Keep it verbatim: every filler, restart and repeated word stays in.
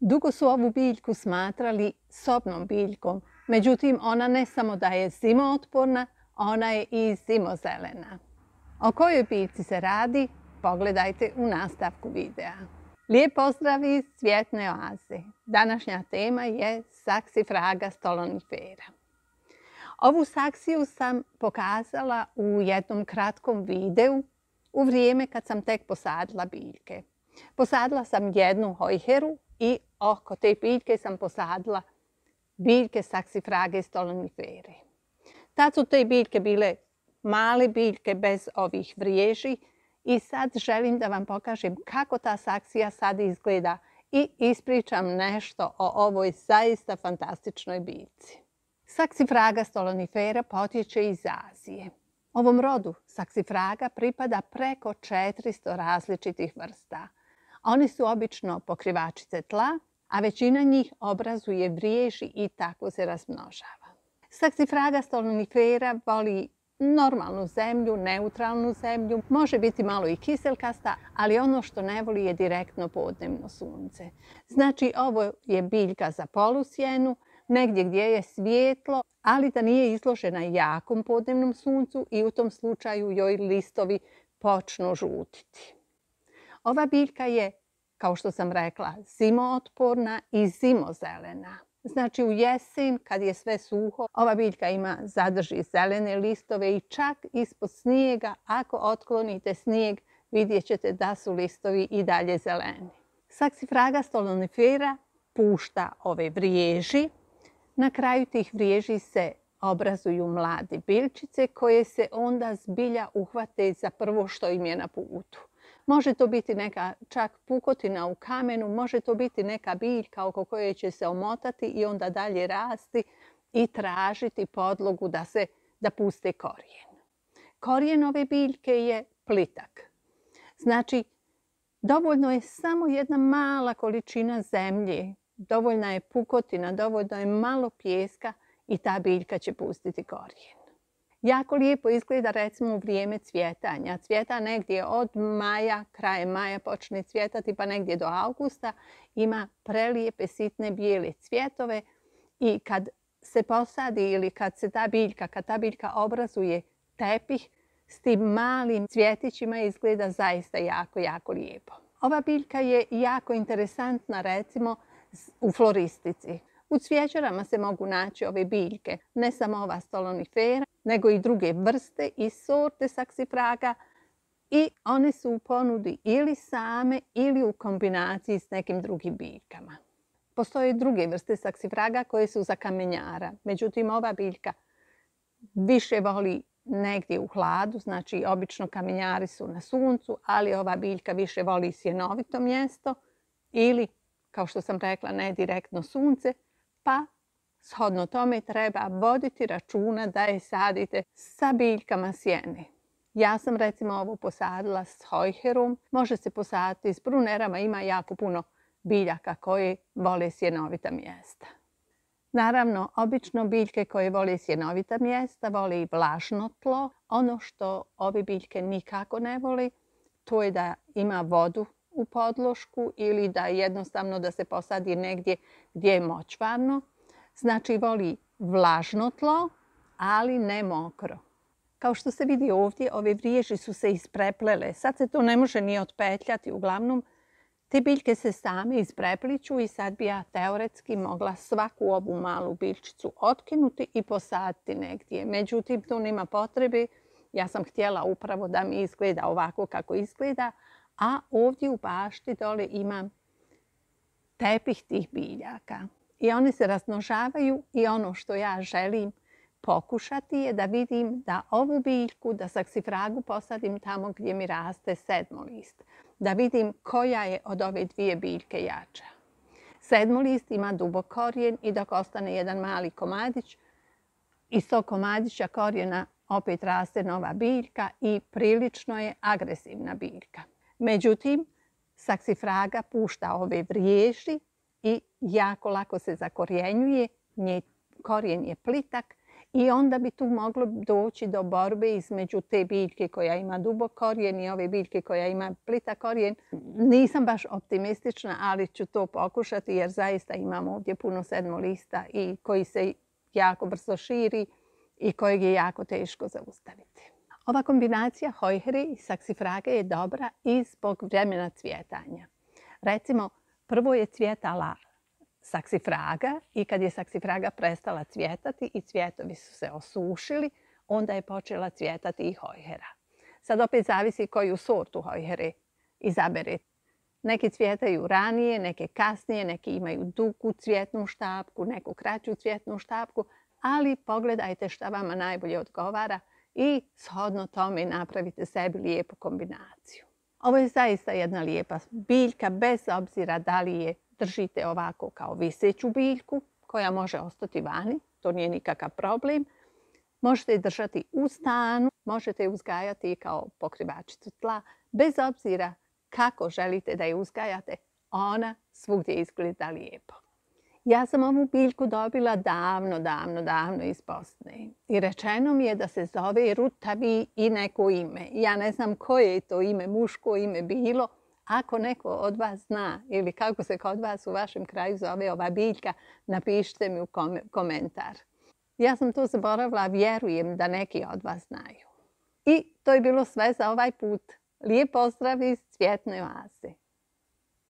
Dugo su ovu biljku smatrali sobnom biljkom, međutim ona ne samo da je zimootporna, ona je i zimozelena. O kojoj biljci se radi, pogledajte u nastavku videa. Lijep pozdrav iz Cvjetne oaze. Današnja tema je Saxifraga stolonifera. Ovu saksiju sam pokazala u jednom kratkom videu u vrijeme kad sam tek posadila biljke. Posadila sam jednu hojheru i oko te biljke sam posadila biljke Saxifrage stolonifere. Tad su te biljke bile male biljke bez ovih vriježi i sad želim da vam pokažem kako ta saksija sad izgleda i ispričam nešto o ovoj zaista fantastičnoj biljci. Saxifraga stolonifera potječe iz Azije. Ovom rodu Saxifraga pripada preko četiristo različitih vrsta. Oni su obično pokrivačice tla, a većina njih obrazuje vriježi i tako se razmnožava. Saxifraga stolonifera voli normalnu zemlju, neutralnu zemlju, može biti malo i kiselkasta, ali ono što ne voli je direktno podnevno sunce. Znači, ovo je biljka za polusjenu, negdje gdje je svijetlo, ali da nije izložena jakom podnevnom suncu i u tom slučaju joj listovi počnu žutiti. Ova biljka je, kao što sam rekla, zimootporna i zimozelena. Znači u jesen, kad je sve suho, ova biljka ima, zadrži zelene listove i čak ispod snijega, ako otklonite snijeg, vidjet ćete da su listovi i dalje zeleni. Saxifraga stolonifera pušta ove vriježi. Na kraju tih vriježi se obrazuju mlade biljčice koje se onda zbilja uhvate za prvo što im je na putu. Može to biti neka čak pukotina u kamenu, može to biti neka biljka oko koje će se omotati i onda dalje rasti i tražiti podlogu da se da puste korijen. Korijen ove biljke je plitak. Znači, dovoljno je samo jedna mala količina zemlje, dovoljna je pukotina, dovoljno je malo pijeska i ta biljka će pustiti korijen. Jako lijepo izgleda recimo u vrijeme cvjetanja. Cvjeta negdje od maja, krajem maja počne cvjetati pa negdje do augusta. Ima prelijepe sitne bijele cvjetove i kad se posadi ili kad se ta biljka, kad ta biljka obrazuje tepih, s tim malim cvjetićima izgleda zaista jako, jako lijepo. Ova biljka je jako interesantna recimo u floristici. U cvjećarama se mogu naći ove biljke, ne samo ova stolonifera, nego i druge vrste i sorte Saxifraga i one su u ponudi ili same ili u kombinaciji s nekim drugim biljkama. Postoje druge vrste Saxifraga koje su za kamenjara, međutim ova biljka više voli negdje u hladu, znači obično kamenjari su na suncu, ali ova biljka više voli sjenovito mjesto ili, kao što sam rekla, ne direktno sunce, pa shodno tome treba voditi računa da je sadite sa biljkama sjene. Ja sam recimo ovo posadila s hojherom, može se posaditi s brunerama, ima jako puno biljaka koje vole sjenovita mjesta. Naravno, obično biljke koje vole sjenovita mjesta vole i vlažno tlo. Ono što ove biljke nikako ne voli, to je da ima vodu u podlošku ili da jednostavno da se posadi negdje gdje je močvarno. Znači voli vlažno tlo, ali ne mokro. Kao što se vidi ovdje, ove vriježi su se ispreplele. Sad se to ne može ni otpetljati. Uglavnom, te biljke se same isprepliču i sad bi ja teoretski mogla svaku ovu malu biljčicu otkinuti i posaditi negdje. Međutim, tu nema potrebe. Ja sam htjela upravo da mi izgleda ovako kako izgleda, a ovdje u bašti dole imam tepih tih biljaka. I one se razmnožavaju i ono što ja želim pokušati je da vidim da ovu biljku, da Saxifragu posadim tamo gdje mi raste sedmolist. Da vidim koja je od ove dvije biljke jača. Sedmolist ima dubok korijen i dok ostane jedan mali komadić, iz tog komadića korijena opet raste nova biljka i prilično je agresivna biljka. Međutim, Saxifraga pušta ove vriježi i jako lako se zakorjenjuje, njen korijen je plitak I onda bi tu moglo doći do borbe između te biljke koja ima dubok korijen i ove biljke koja ima plitak korijen. Nisam baš optimistična, ali ću to pokušati jer zaista imamo ovdje puno sedmolista i koji se jako brzo širi i kojeg je jako teško zaustaviti. Ova kombinacija hojhere i saksifrage je dobra i zbog vremena cvjetanja. Recimo, prvo je cvjetala saksifraga i kad je saksifraga prestala cvjetati i cvjetovi su se osušili, onda je počela cvjetati i hojhera. Sad opet zavisi koju sortu hojhere izaberete. Neki cvjetaju ranije, neke kasnije, neki imaju dugu cvjetnu štapku, neku kraću cvjetnu štapku, ali pogledajte šta vama najbolje odgovara i shodno tome napravite sebi lijepu kombinaciju. Ovo je zaista jedna lijepa biljka, bez obzira da li je držite ovako kao viseću biljku koja može ostati vani, to nije nikakav problem. Možete je držati u stanu, možete je uzgajati i kao pokrivačicu tla, bez obzira kako želite da je uzgajate, ona svugdje izgleda lijepo. Ja sam ovu biljku dobila davno, davno, davno iz Bosne. I rečeno mi je da se zove rutavi i neko ime. Ja ne znam koje je to ime, muško ime bilo. Ako neko od vas zna ili kako se kod vas u vašem kraju zove ova biljka, napišite mi u komentar. Ja sam to zaboravila, vjerujem da neki od vas znaju. I to je bilo sve za ovaj put. Lijep pozdrav iz Cvjetne oaze.